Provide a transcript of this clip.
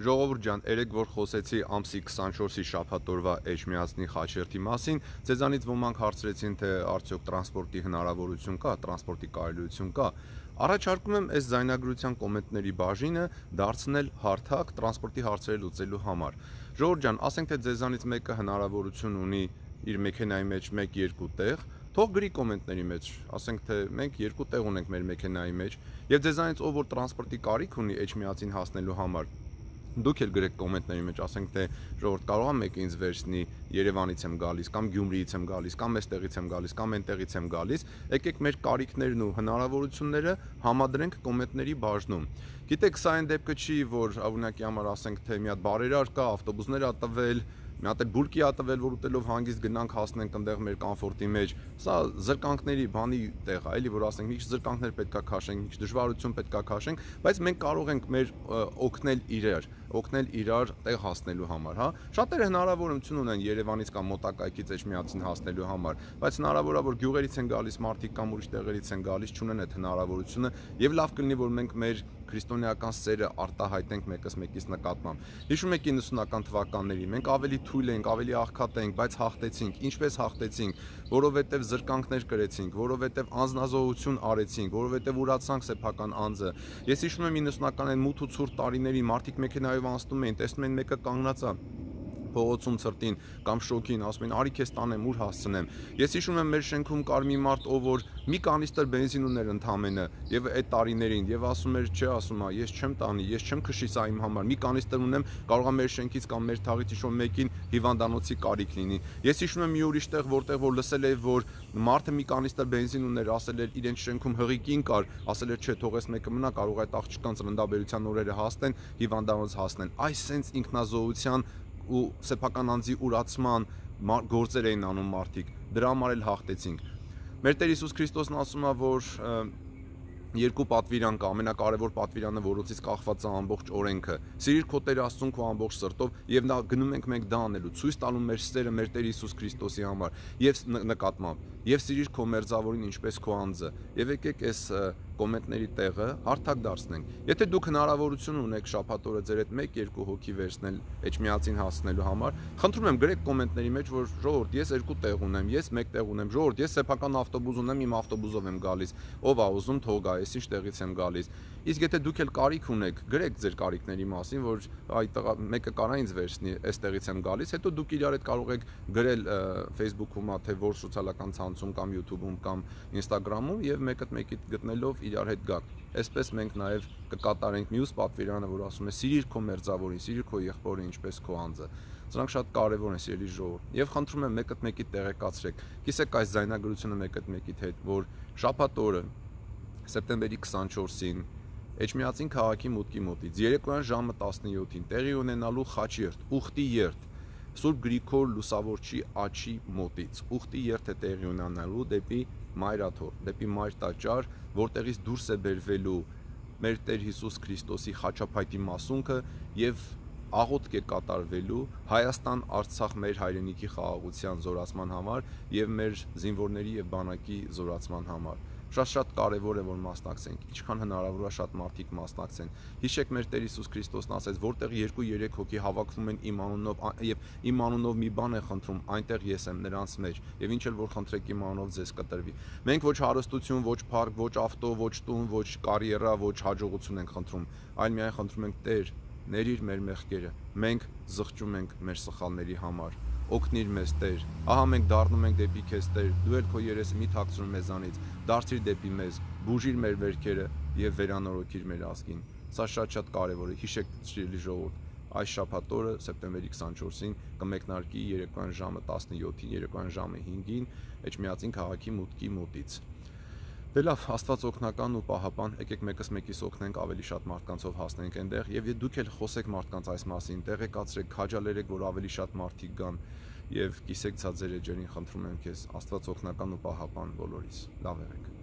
Ժողովուրդ ջան, երեք որ խոսեցի ամսի 24-ի շաբաթօրվա Էջմիածնի խաչերթի մասին, ձեզանից ոմանք հարցրեցին, թե արդյոք տրանսպորտի հնարավորություն կա, տրանսպորտի կարելիություն կա։ Առաջարկում եմ այս ձայնագրության կոմենտների բաժինը դարձնել հարթակ տրանսպորտի հարցերը լուծելու համար։ Ժողովուրդ ջան, ասենք թե ձեզանից մեկը հնարավորություն ունի իր մեքենայի մեջ 1-2 տեղ, թող գրի կոմենտների մեջ, ասենք թե մենք 2 տեղ ունենք մեր մեքենայի մեջ, եւ ձեզանից ով որ տրանսպորտի կարիք ունի Էջմիածին հասնելու համար, դուք էլ գրեք կոմենտների մեջ, ասենք թե ժողովուրդ կարող է մեկը ինձ վերցնի, Երևանից եմ գալիս, կամ Գյումրիից եմ գալիս, կամ այստեղից եմ գալիս, կամ այնտեղից եմ գալիս, եկեք մեր կարիքներն ու հնարավորությունները համադրենք կոմենտների բաժնում։ Գիտեք, սա այն դեպքը չի, որ օրինակի համար ասենք թե մի հատ բարերար կա, ավտոբուսներ ա տվել, մի հատ էլ բուրկի ա տվել, որ ուտելով հանգիստ գնանք հասնենք այնտեղ մեր կոմֆորտի մեջ։ Սա զրկանքների բանի տեղ է, էլի, որ ասենք մի քիչ զրկանքներ պետքա քաշենք, մի քիչ դժվարություն պետքա քաշենք, բայց մենք կարող ենք մեր օգնել իրար տեղ հասնելու համար, հա։ Շատերը հնարավորություն ունեն Երևանից կամ մոտակայքից Էջմիածին հասնելու համար, բայց հնարավոր է որ գյուղերից են գալիս մարդիկ կամ ուրիշ տեղերից են գալիս, չունեն այդ հնարավորությունը, եւ լավ կլինի որ մենք մեր քրիստոնեական սերը արտահայտենք մեկս մեկից նկատմամբ։ Հիշում եք 90-ական թվականներին մենք ավելի թույլ ենք, ավելի աղքատ ենք, բայց հաղթեցինք։ Ինչպես հաղթեցինք, որովհետև զրկանքներ կրեցինք, որովհետև անձնազոհություն արեցինք, որովհետև ուրացանք սեփական անձը։ Ես հիշում եմ 90-ական մութ ու ցուրտ տարիներին մարդիկ մեքենայով անցնում էին, տեսնում են մեկը կանգնած է փողոցում ցրտին կամ շոքին, ասում են արի քեզ տանեմ, ուր հասցնեմ։ Ես հիշում եմ մեր շենքում կար մի մարդ, ով որ մի կանիստր բենզին ուներ ընդամենը եւ այդ տարիներին եւ ասում էր, չէ, ասում է, ես չեմ տանի, ես չեմ քշի սա իմ համար, մի կանիստր ունեմ, կարող է մեր շենքից կամ մեր թաղից իշոն մեկին հիվանդանոցի կարիք լինի։ Ես հիշում եմ մի ուրիշ տեղ, որտեղ որ լսել էի, որ մարդը մի կանիստր բենզին ուներ, ասել էր իրենց շենքում հղիկին կար, ասել էր, չէ, թող այս մեկը մնա, կարող է այդ աղջկան ծննդաբերության օրերը հասնեն, հիվանդանոց հասնեն։ Այս սենց ինքնազոհության ու սեփական անձի ուրացման գործեր էին անում մարդիկ, դրա համար էլ հաղթեցինք։ Մեր Տեր Հիսուս Քրիստոսն ասում է, որ երկու պատվիրան կա, ամենակարևոր պատվիրանը, որոցից կախված է ամբողջ օրենքը։ Սիրիր քո Տեր Աստծուն քո ամբողջ սրտով, եւ նա գնում ենք մենք դա անելու, ցույց տալու մեր սերը մեր Տեր Հիսուս Քրիստոսի համար եւ նկատմամբ, եւ սիրիր քո մերձավորին ինչպես քո անձը։ Եվ եկեք այս կոմենտների տեղը հարթակ դարձնենք։ Եթե դուք հնարավորություն ունեք շաբաթ օրը ձեր հետ 1-2 հոգի վերցնել Էջմիածին հասնելու համար, խնդրում եմ գրեք կոմենտների մեջ, որ ժողովուրդ ես 2 տեղ ունեմ, ես 1 տեղ ունեմ, ժողովուրդ ես սեփական ավտոբուս ունեմ, իմ ավտոբուսով եմ գալիս, ով է ուզում թող գա, ես ինչ տեղից եմ գալիս։ Իսկ եթե դուք էլ կարիք ունեք, գրեք ձեր կարիքների մասին, որ այդ մեկը կարա ինձ վերցնի, այստեղից եմ գալիս, հետո դուք իրար հետ կարող եք գրել Facebook-ում, թե որ սոցիալական ցանցում կամ YouTube-ում կամ Instagram-ում եւ մեկը մեկիդ գտնելով իրար հետ գաք։ Այսպես մենք նաեւ կկատարենք մյուս պատվիրանը, որ ասում է սիրիր քո մերձավորին, սիրիր քո եղբորը ինչպես քո անձը։ Սրանք շատ կարևոր են, սիրելի ժողովուրդ։ Եվ խնդրում եմ մեկը մեկիդ տեղեկացրեք։ Կիսեք այս ձայնագրությունը մեկը մեկիդ հետ, որ շաբաթ օրը սեպտեմբերի 24-ին Էջմիածին քաղաքի մուտքի մոտից երեկոյան ժամը 17-ին տեղի ունենալու խաչերթ, ուխտի երթ Սուրբ Գրիգոր Լուսավորչի աչի մոտից ուխտի երթ է տեղի ունենալու դեպի Մայրաթոր, դեպի Մայր տաճար, որտեղից դուրս է բերվելու մեր Տեր Հիսուս Քրիստոսի խաչափայտի մասունքը եւ աղոթք է կատարվելու Հայաստան, Արցախ մեր հայրենիքի խաղաղության զորացման համար եւ մեր զինվորների եւ բանակի զորացման համար։ Շատ կարևոր է որ մասնակցենք, ինչքան հնարավոր է շատ մարդիկ մասնակցեն։ Հիշեք մեր Տեր Հիսուս Քրիստոսն ասեց, որտեղ 2-3 հոգի հավաքվում են իմ անունով եւ իմ անունով մի բան է խնդրում, այնտեղ ես եմ նրանց մեջ եւ ինչ էլ որ խնդրեք իմ անունով ձեզ կտրվի։ Մենք ոչ հարստություն, ոչ փառք, ոչ ավտո, ոչ տուն, ոչ կարիերա, ոչ հաջողություն ենք խնդրում, այլ միայն խնդրում ենք Տեր, ներիր մեր մեղքերը։ Մենք զղջում ենք մեր սխալների համար։ Օգնիր մեզ Տեր, ահա մենք դառնում ենք դեպի քեզ Տեր, դու էլ քո երեսը մի թաքցրու մեզանից, դարձիր դեպի մեզ, բուժիր մեր վերքերը եւ վերանորոգիր մեր ազգին։ Սա շատ կարեւոր է, հիշեք սիրելի ժողովուրդ, այս շաբաթ օրը սեպտեմբերի 24-ին կմեկնարկի երեկոյան ժամը 17-ին, երեկոյան ժամը 5-ին Էջմիածին քաղաքի մուտքի մոտից։ Դե լավ, Աստված օգնական ու պահապան, եկեք մեկս մեկիս օգնենք ավելի շատ մարդկանցով հասնենք այնտեղ եւ դուք էլ խոսեք մարդկանց այս մասին, տեղեկացրեք, քաջալերեք, որ ավելի շատ մարդիկ գան եւ կիսեք ցած ձեր էջերին, խնդրում եմ քեզ, Աստված օգնական ու պահապան բոլորիս։ Լավ եղեք։